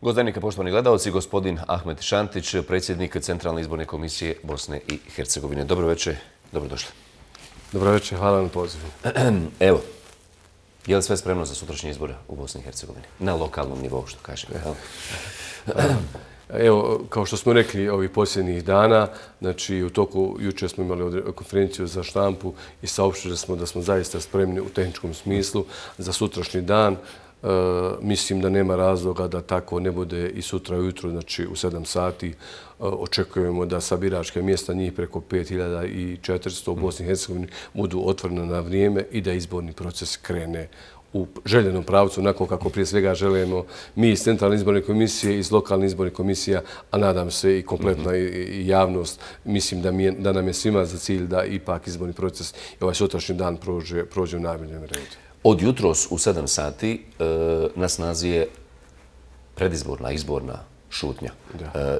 Gost dnevnika, poštovani gledalci, gospodin Ahmed Šantić, predsjednik Centralne izborne komisije Bosne i Hercegovine. Dobro večer, dobrodošli. Dobro večer, hvala na pozivu. Evo, je li sve spremno za sutrašnje izbore u Bosni i Hercegovini? Na lokalnom nivou, što kažem. Evo, kao što smo rekli ovih posljednjih dana, znači u toku jučer smo imali konferenciju za štampu i saopštili smo da smo zaista spremni u tehničkom smislu za sutrašnji dan. Mislim da nema razloga da tako ne bude i sutra ujutro, znači u 7 sati. Očekujemo da sa biračke mjesta njih preko 5400 u Bosni i Hercegovini budu otvorene na vrijeme i da izborni proces krene u željenom pravcu, onako kako prije svega želimo mi iz Centralne izborne komisije, iz lokalnih izbornih komisija, a nadam se i kompletna i javnost. Mislim da nam je svima za cilj da ipak izborni proces i ovaj sutrašnji dan prođe u najboljem redu. Od jutros u 7 sati na snazi je predizborna, izborna šutnja.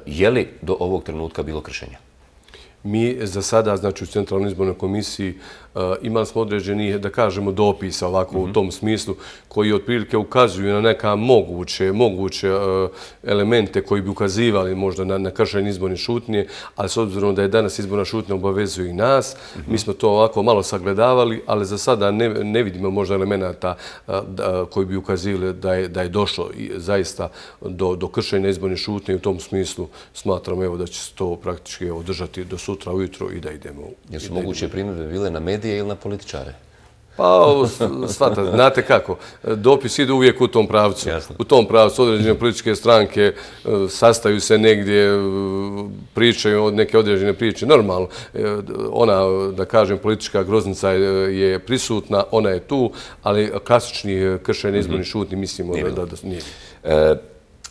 Je li do ovog trenutka bilo kršenja? Mi za sada, znači u Centralnoj izbornoj komisiji, imali smo određeni, da kažemo, dopisa ovako u tom smislu, koji otprilike ukazuju na neka moguće elemente koji bi ukazivali možda na kršenje izborne šutnje, ali s obzirom da je danas izborna šutnja obavezuje i nas, mi smo to ovako malo sagledavali, ali za sada ne vidimo možda elemenata koji bi ukazivali da je došlo zaista do kršenja izborne šutnje i u tom smislu smatramo evo da će se to praktički održati do sutra ujutro i da idemo. Jesu moguće primjedbe bile na medije ili na političare? Pa, znate kako, dopis ide uvijek u tom pravcu. U tom pravcu određene političke stranke sastaju se negdje, pričaju neke određene priče. Normalno, ona, da kažem, politička groznica je prisutna, ona je tu, ali klasični kršenje izbornih šutnji mislimo da nije.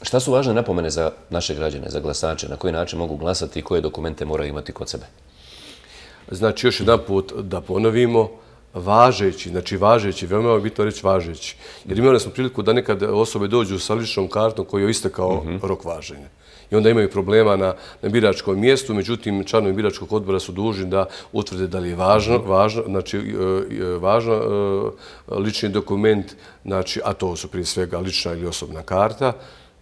Šta su važne napomene za naše građane, za glasače? Na koji način mogu glasati i koje dokumente moraju imati kod sebe? Znači, još jedan put da ponovimo, važeći, veoma je bitno reći važeći. Jer imali smo priliku da nekad osobe dođu sa ličnom kartom koji je istekao rok važenja. I onda imaju problema na biračkom mjestu, međutim, članovi biračkog odbora su dužni da utvrde da li je važan lični dokument, a to su prije svega lična ili osobna karta,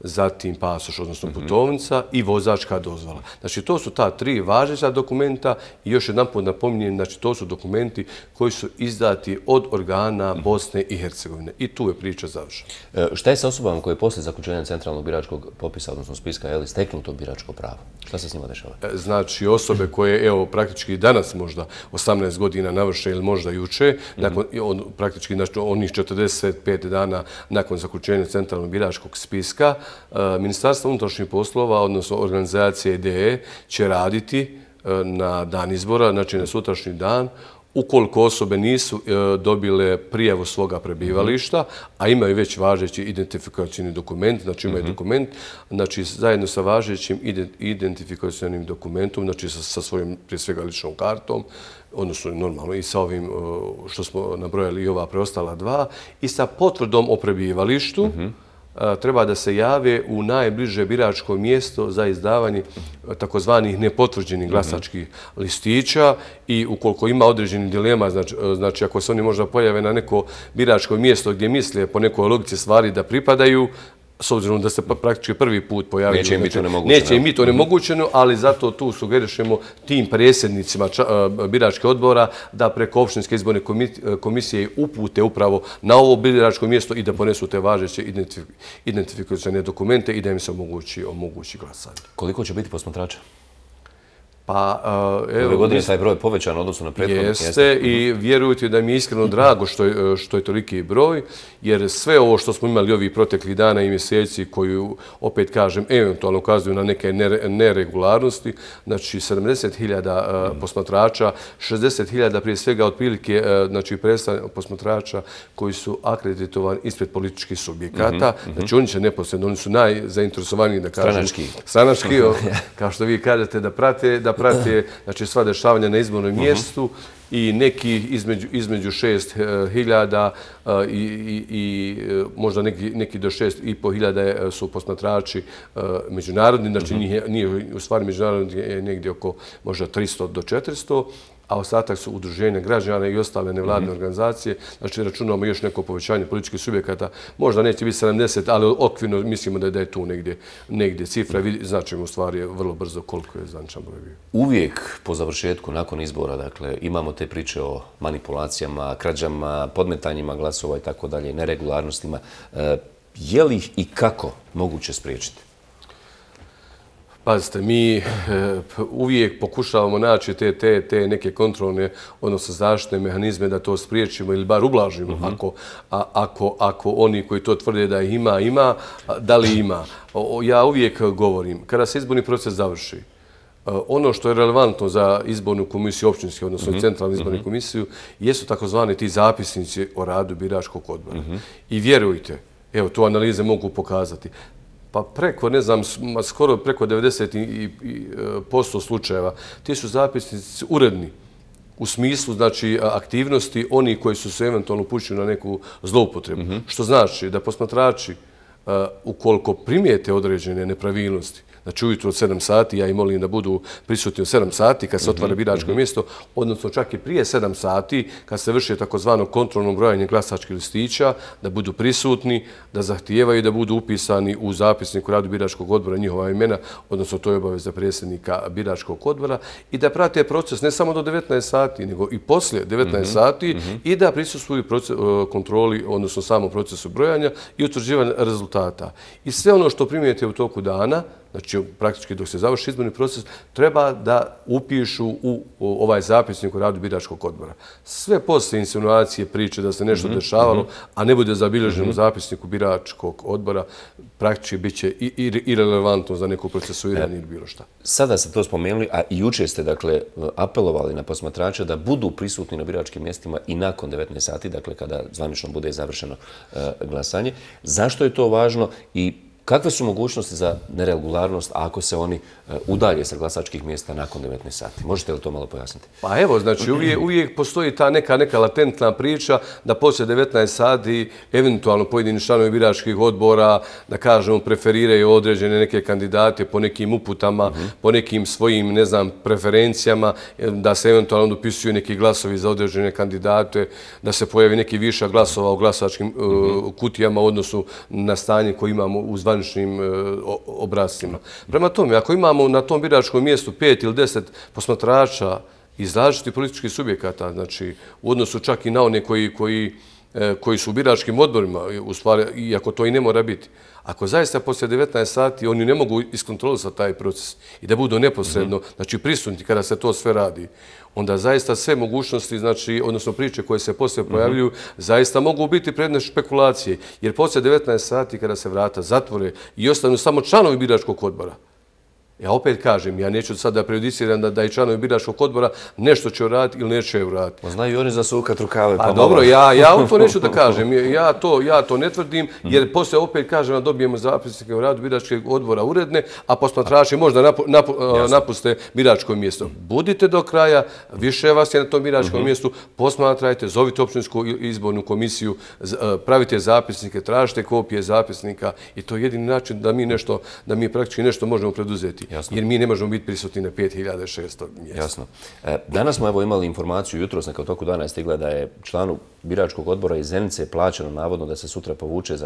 zatim pasoš, odnosno putovnica i vozačka dozvola. Znači, to su ta 3 važeća dokumenta i još jedanput napominjem, znači, to su dokumenti koji su izdati od organa Bosne i Hercegovine. I tu je priča završena. Šta je sa osobama koje poslije zaključenja centralnog biračkog popisa, odnosno spiska, steknu to biračko pravo? Šta se s njima dešava? Znači, osobe koje, evo, praktički danas možda 18 godina navrše ili možda juče, praktički onih 45 dana nakon zaključenja centralnog biračkog spiska, Ministarstvo unutrašnjih poslova, odnosno organizacija IDE, će raditi na dan izbora, znači na sutrašnji dan, ukoliko osobe nisu dobile prijavu svoga prebivališta, a imaju već važeći identifikacijni dokument, znači imaju dokument, znači zajedno sa važećim identifikacijnim dokumentom, znači sa svojom prije svega ličnom kartom, odnosno normalno i sa ovim što smo nabrojali i ova preostala 2, i sa potvrdom o prebivalištu, treba da se jave u najbliže biračko mjesto za izdavanje takozvanih nepotvrđenih glasačkih listića i ukoliko ima određenih dilema, znači ako se oni možda pojave na neko biračko mjesto gdje misle po nekoj logici stvari da pripadaju, s obzirom da se praktički prvi put pojavili. Neće im biti onemogućeno, ali zato tu sugerišemo tim predsjednicima biračkih odbora da preko opštinske izborne komisije upute upravo na ovo biračko mjesto i da ponesu te važeće identifikacione dokumente i da im se omogući glasanje. Koliko će biti posmatrača? Pa, ove godine taj broj povećan odnosno na prethodnog mjesta. Jeste i vjerujte da mi je iskreno drago što je toliki broj, jer sve ovo što smo imali ovih proteklih dana i mjeseci koju, opet kažem, eventualno ukazuju na neke neregularnosti, znači 70.000 posmatrača, 60.000 prije svega otprilike, znači posmatrača koji su akreditovani ispred političkih subjekata, znači oni će neposredno, oni su najzainteresovaniji, da kažem, stranački, kao što vi kažete, da prate znači, sva dešavanja na izbornom mjestu i neki između 6.000 i možda neki do 6.500 su posmatrači međunarodni, znači nije u stvari međunarodni je negdje oko možda 300 do 400, a ostatak su udruženja građana i ostale nevladine organizacije. Znači, računamo još neko povećanje političkih subjekata. Možda neće biti 70, ali okvirno mislimo da je tu negdje cifra. Značimo u stvari vrlo brzo koliko je zvaničan broj bio. Uvijek po završetku, nakon izbora, dakle, imamo te priče o manipulacijama, krađama, podmetanjima glasova i tako dalje, neregularnostima. Je li ih i kako moguće spriječiti? Pazite, mi uvijek pokušavamo naći te neke kontrolne, odnosno zaštitne mehanizme da to spriječimo ili bar ublažimo. Ako oni koji to tvrde da ih ima, da li ima? Ja uvijek govorim, kada se izborni proces završi, ono što je relevantno za izbornu komisiju općinske, odnosno centralnu izbornu komisiju, jesu takozvani ti zapisnici o radu biračkog odbora. I vjerujte, evo, to analize mogu pokazati. Pa preko, ne znam, skoro preko 90% slučajeva, ti su zapisnici uredni u smislu, znači, aktivnosti oni koji su se eventualno upućili na neku zloupotrebu. Što znači da posmatrači, ukoliko primijete određene nepravilnosti, znači ujutro od 7 sati, ja ih molim da budu prisutni od 7 sati kad se otvara biračko mjesto, odnosno čak i prije 7 sati kad se vrši takozvano kontrolno brojanje glasačkih listića, da budu prisutni, da zahtijevaju da budu upisani u zapisnik u radu biračkog odbora njihova imena, odnosno to je obaveza predsjednika biračkog odbora, i da prate proces ne samo do 19 sati, nego i poslije 19 sati i da prisustvuju kontroli, odnosno samom procesu brojanja i utvrđivanja rezultata. I sve ono što primijete u toku dana, znači praktički dok se završi izborni proces, treba da upišu u ovaj zapisnik u radu biračkog odbora. Sve poslije insinuacije, priče da se nešto dešavalo, a ne bude zabilježeno u zapisniku biračkog odbora, praktički bit će irelevantno za neko procesuiranje ili bilo šta. Sada ste to spomenuli, a i jučer ste, dakle, apelovali na posmatrače da budu prisutni na biračkim mjestima i nakon 19 sati, dakle, kada zvanično bude završeno glasanje. Zašto je to važno i kakve su mogućnosti za neregularnost ako se oni udalje sa glasačkih mjesta nakon 19 sati? Možete li to malo pojasniti? Pa evo, znači uvijek postoji ta neka latentna priča da poslije 19 sati eventualno pojedini članovi biračkih odbora, da kažemo, preferiraju određene neke kandidate po nekim uputama, po nekim svojim, ne znam, preferencijama, da se eventualno dopisuju neki glasovi za određene kandidate, da se pojavi neki višak glasova u glasačkim kutijama u odnosu na stanje koje imamo u zvaničnim obrascima. Prema tome, ako imamo na tom biračkom mjestu 5 ili 10 posmatrača iz različitih političkih subjekata, znači u odnosu čak i na one koji su u biračkim odborima, u stvari, iako to i ne mora biti, ako zaista poslije 19 sati oni ne mogu iskontrolisati taj proces i da budu neposredno, znači prisutni kada se to sve radi, onda zaista sve mogućnosti, znači, odnosno priče koje se poslije pojavljuju, zaista mogu biti predmet špekulacije. Jer poslije 19 sati kada se vrata zatvore i ostanu samo članovi biračkog odbora, ja opet kažem, ja neću sad da prejudiciram da i članovi biračkog odbora nešto će uraditi ili neće uraditi. Znaju oni zasukat rukave. Pa dobro, ja to neću da kažem. Ja to ne tvrdim, jer poslije opet kažem da dobijemo zapisnike u radu biračkog odbora uredne, a posmatrači možda napuste biračko mjesto. Budite do kraja, više vas je na tom biračkom mjestu, posmatrajte, zovite općinsku izbornu komisiju, pravite zapisnike, tražite kopije zapisnika i to je jedini način da mi praktički nešto možemo preduzeti. Jasno. Jer mi ne možemo biti prisutni na 5600 mjesta. Jasno. Danas smo evo imali informaciju, jutros na toku dana je stigla da je članu biračkog odbora iz Zenice plaćeno navodno da se sutra povuče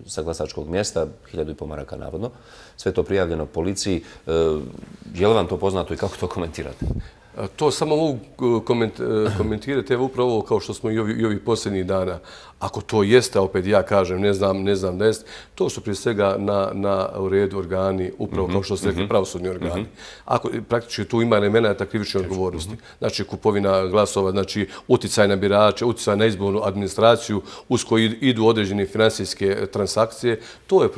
sa glasačkog mjesta, 1.500 maraka navodno. Sve to prijavljeno policiji. Je li vam to poznato i kako to komentirate? To samo mogu komentirati, evo upravo ovo kao što smo i ovih posljednjih dana. Ako to jeste, opet ja kažem, ne znam da jeste, to su prije svega u redu organi, upravo kao što ste rekli, pravosudni organi. Ako praktički tu ima elemenata krivične odgovornosti, znači kupovina glasova, znači uticaj na birače, uticaj na izbornu administraciju, uz koji idu određene finansijske transakcije, to je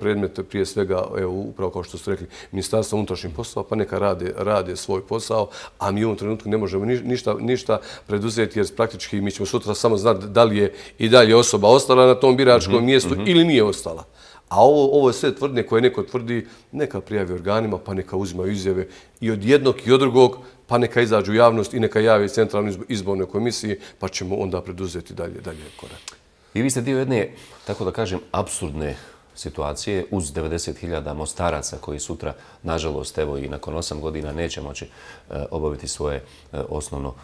predmet prije svega, evo upravo kao što ste rekli, Ministarstva unutrašnjih poslova, pa neka rade svoj posao, a mi u ovom trenutku ne možemo ništa preduzeti jer praktički mi ćemo sutra samo znati da li je i dalje osoba ostala na tom biračkom mjestu ili nije ostala. A ovo je sve tvrdnje koje neko tvrdi, neka prijavi organima, pa neka uzimaju izjave i od jednog i od drugog, pa neka izađu u javnost i neka javi Centralnoj izbornoj komisiji, pa ćemo onda preduzeti dalje korak. I vi ste dio jedne, tako da kažem, apsurdne situacije uz 90.000 mostaraca koji sutra, nažalost, evo i nakon 8 godina neće moći obaviti svoje osnovno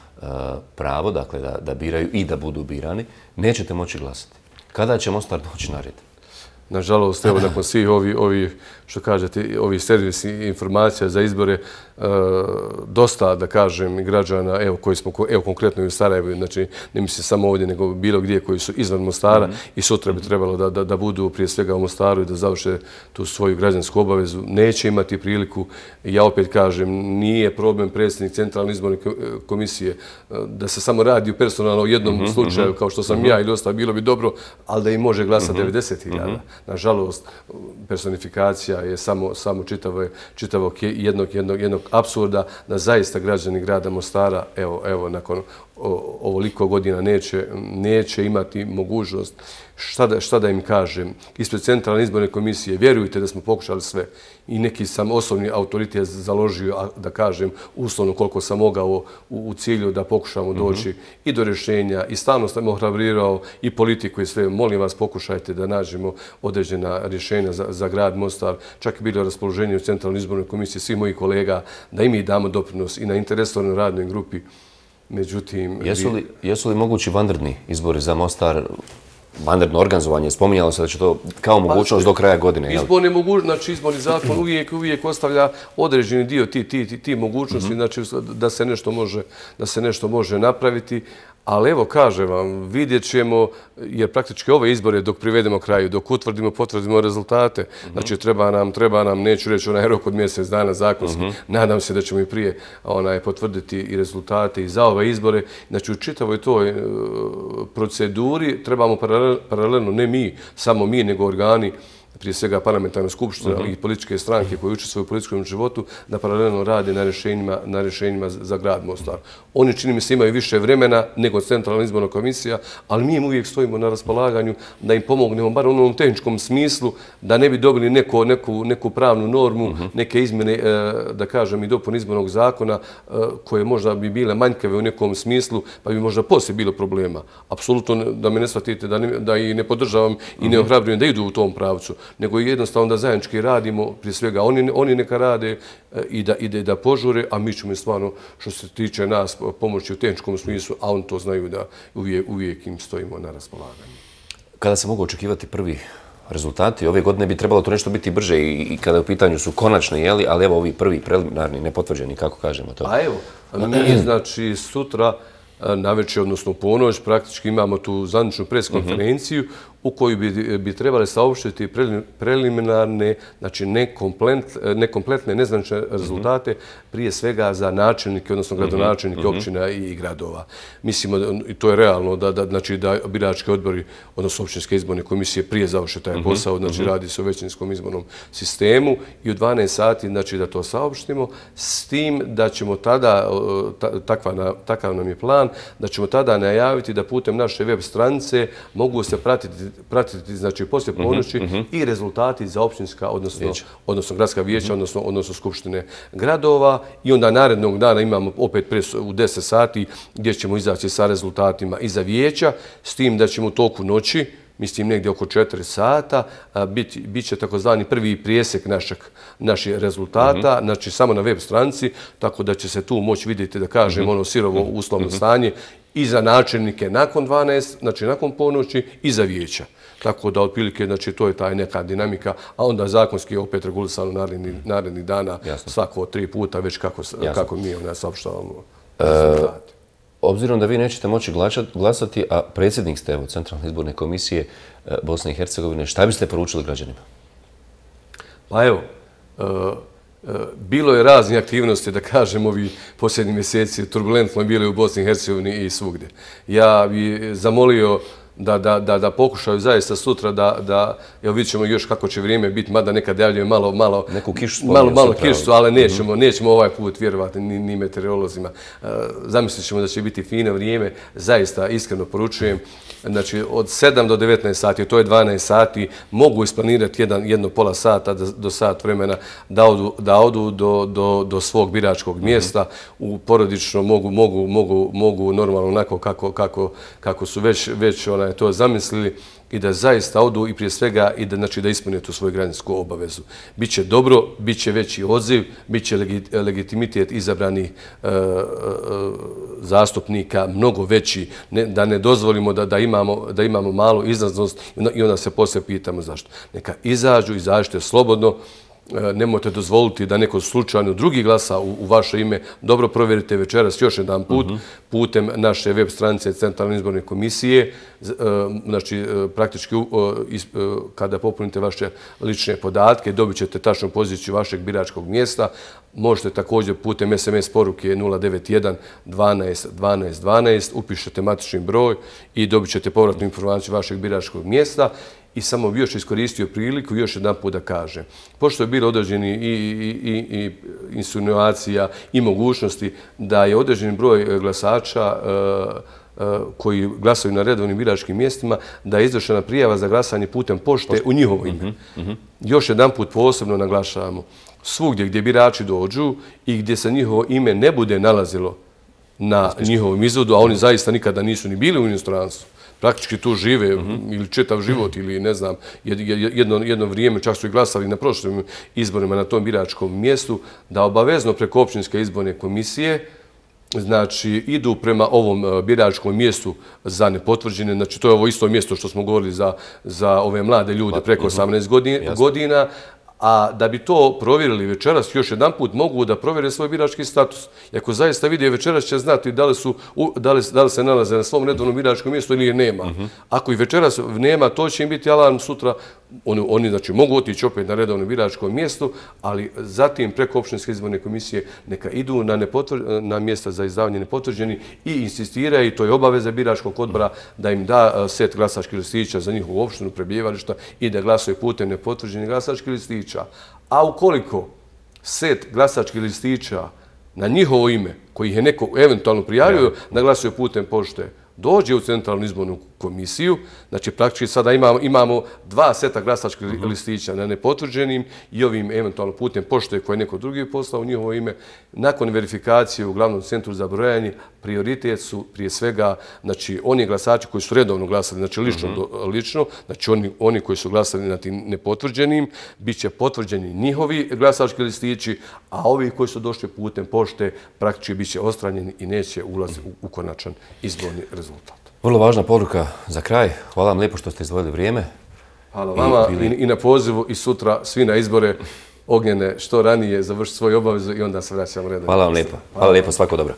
pravo, dakle da biraju i da budu birani, nećete moći glasati. Kada će Mostar doći na red? Nažalost, evo, nakon svih što kažete, ovih servisnih informacija za izbore, dosta, da kažem, građana, evo, koji smo, evo, konkretno i u Sarajevu, znači, ne mislim samo ovdje, nego bilo gdje koji su izvan Mostara i sutra bi trebalo da budu prije svega u Mostaru i da završe tu svoju građansku obavezu, neće imati priliku. Ja opet kažem, nije problem predsjednik Centralne izborne komisije da se samo radi personalno u jednom slučaju, kao što sam ja ili ostalo, bilo bi dobro, ali da im može glasati 90.000. Nažalost, personifikacija je samo čitavog jednog apsurda da zaista građani grada Mostara, evo, nakon ovoliko godina neće imati mogućnost. Šta da im kažem? Ispred Centralne izborne komisije, vjerujte da smo pokušali sve i neki sam osobni autoritet založio, da kažem, uslovno koliko sam mogao u cilju da pokušamo doći i do rješenja i stalno sam ohrabrirao i politiku i sve. Molim vas, pokušajte da nađemo određena rješenja za grad Mostar. Čak i bilo raspoloženje u Centralnoj izbornoj komisiji svih mojih kolega da i mi damo doprinos i na interesovanoj radnoj grupi. Međutim... Jesu li mogući vanredni izbori za Mostar, vanredno organizovanje? Spominjalo se da će to kao mogućnost do kraja godine. Znači, izborni zakon uvijek ostavlja određeni dio ti mogućnosti, znači da se nešto može napraviti. Ali evo, kažem vam, vidjet ćemo, jer praktički ove izbore dok privedemo kraju, dok potvrdimo rezultate, znači treba nam, neću reći onaj rok od mjesec dana zakonski, nadam se da ćemo i prije potvrditi i rezultate i za ove izbore. Znači, u čitavoj toj proceduri trebamo paralelno, ne samo mi, nego organi, prije svega parlamentarna skupština i političke stranke koje učestvuju u političkom životu, da paralelno rade na rješenjima za grad Mostar. Oni, čini mi se, imaju više vremena nego Centralna izborna komisija, ali mi im uvijek stojimo na raspolaganju da im pomognemo, bar u onom tehničkom smislu, da ne bi dobili neku pravnu normu, neke izmjene, da kažem, i dopune izbornog zakona, koje možda bi bile manjkave u nekom smislu, pa bi možda poslije bilo problema. Apsolutno da me ne shvatite, da i ne podržavam i ne ohrabrujem da idu u tom pravcu, nego jednostavno da zajednički radimo, prije svega oni neka rade i da požure, a mi ćemo stvarno, što se tiče nas, pomoći u tehničkom smislu, a oni to znaju da uvijek im stojimo na raspolaganju. Kada se mogu očekivati prvi rezultati? Ove godine bi trebalo to nešto biti brže i kada u pitanju su konačni, ali evo ovi prvi preliminarni, nepotvrđeni, kako kažemo to? A evo, mi znači sutra navečer, odnosno u ponoć, praktički imamo tu zvaničnu preskonferenciju u koju bi trebali saopštiti preliminarne, znači nekompletne, nezvanične rezultate, prije svega za načelnike, odnosno gradonačelnike općina i gradova. Mislimo, i to je realno, da birački odbori, odnosno općinske izborne komisije prije završe taj posao, znači radi se o većinskom izbornom sistemu i u 12 sati, znači da to saopštimo, s tim da ćemo tada, takav nam je plan, da ćemo tada najaviti da putem naše web stranice mogu se pratiti, znači, poslije ponoći i rezultati za općinska, odnosno gradska vijeća, odnosno skupštine gradova. I onda narednog dana imamo opet u 10 sati gdje ćemo izaći sa rezultatima i za vijeća, s tim da ćemo u toku noći, mislim negdje oko 4 sata, bit će takozvani prvi prijesek naših rezultata, znači samo na web stranici, tako da će se tu moći vidjeti, da kažem, ono sirovo uslovno stanje i za načelnike nakon 12, znači nakon ponoći i za vijeća. Tako da, otprilike, znači, to je taj neka dinamika, a onda zakonski je opet regulisano narednih dana, svako 3 puta, već kako mi saopštavamo rezultate. Obzirom da vi nećete moći glasati, a predsjednik ste Centralne izborne komisije Bosne i Hercegovine, šta biste poručili građanima? Pa evo, bilo je raznih aktivnosti, da kažem, ovi posljednji mjeseci, turbulentno bili u Bosni i Hercegovini i svugdje. Ja bih zamolio da pokušaju zaista sutra da, evo vidjet ćemo još kako će vrijeme biti, mada nekad javljaju malo kišu, ali nećemo ovaj put vjerovati ni meteorolozima. Zamislit ćemo da će biti fino vrijeme, zaista iskreno poručujem. Znači, od 7 do 19 sati, to je 12 sati, mogu isplanirati jedno pola sata do sat vremena da odu do svog biračkog mjesta. U porodično mogu normalno onako kako su već je to zamislili i da zaista odu i prije svega i da, znači, da ispune tu svoju građansku obavezu. Biće dobro, bit će veći odziv, bit će legitimitet izabranih zastupnika mnogo veći, da ne dozvolimo da imamo malu izlaznost i onda se poslije pitamo zašto. Neka izađite slobodno, nemojte dozvoliti da neko slučajno drugi glasa u vaše ime. Dobro provjerite večeras još jedan put putem naše web stranice Centralne izborne komisije. Znači, praktički kada popunite vaše lične podatke, dobit ćete tačnu poziciju vašeg biračkog mjesta. Možete također putem SMS poruke 091 12 12 12 upišete matični broj i dobit ćete povratnu informaciju vašeg biračkog mjesta. I samo bi još iskoristio priliku još jedan put da kažem. Pošto je bilo određeni i insinuacija i mogućnosti da je određeni broj glasača koji glasaju na redovnim biračkim mjestima, da je izvršena prijava za glasanje putem pošte u njihovo ime. Još jedan put posebno naglašavamo. Svugdje gdje birači dođu i gdje se njihovo ime ne bude nalazilo na njihovom izvodu, a oni zaista nikada nisu ni bili u inostranstvu, praktički tu žive ili čitav život ili ne znam, jedno vrijeme čak su i glasali na prošlim izborima na tom biračkom mjestu, da obavezno preko općinske izborne komisije znači idu prema ovom biračkom mjestu za nepotvrđene. Znači to je ovo isto mjesto što smo govorili za ove mlade ljude preko 18 godina. A da bi to provjerili večeras, još jedan put mogu da provjere svoj birački status. I ako zaista vide večeras će znati da li se nalaze na svom redovnom biračkom mjestu ili je nema. Ako ih večeras nema, to će im biti alarm sutra. Oni znači, mogu otići opet na redovno biračko mjesto, ali zatim preko općinske izborne komisije neka idu na mjesta za izdavanje nepotvrđeni i insistiraju, to je obaveza biračkog odbora, da im da set glasačkih listića za njihovu opštinu, prebivališta i da glasuje putem nepotvrđenih glasačkih listića. A ukoliko set glasačkih listića na njihovo ime, koji je neko eventualno prijavio da glasuje putem pošte, dođe u Centralnu izbornu komisiju, znači praktički sada imamo dva seta glasačkih listića na nepotvrđenim i ovim eventualno putem pošte koje neko drugi poslao u njihovo ime. Nakon verifikacije u glavnom centru za brojanje, prioritet su prije svega znači oni glasači koji su redovno glasali, znači lično, znači oni koji su glasali na tim nepotvrđenim, bit će potvrđeni njihovi glasački listići, a ovi koji su došli putem pošte praktički bit će odstranjeni i neće ulaziti u konačan izborni rezultat. Vrlo važna poruka za kraj. Hvala vam lijepo što ste izdvojili vrijeme. Hvala vama i na pozivu i sutra svi na izbore Ognjene što ranije završiti svoju obavezu i onda se vraćamo redom. Hvala vam lijepo. Hvala lijepo, svako dobro.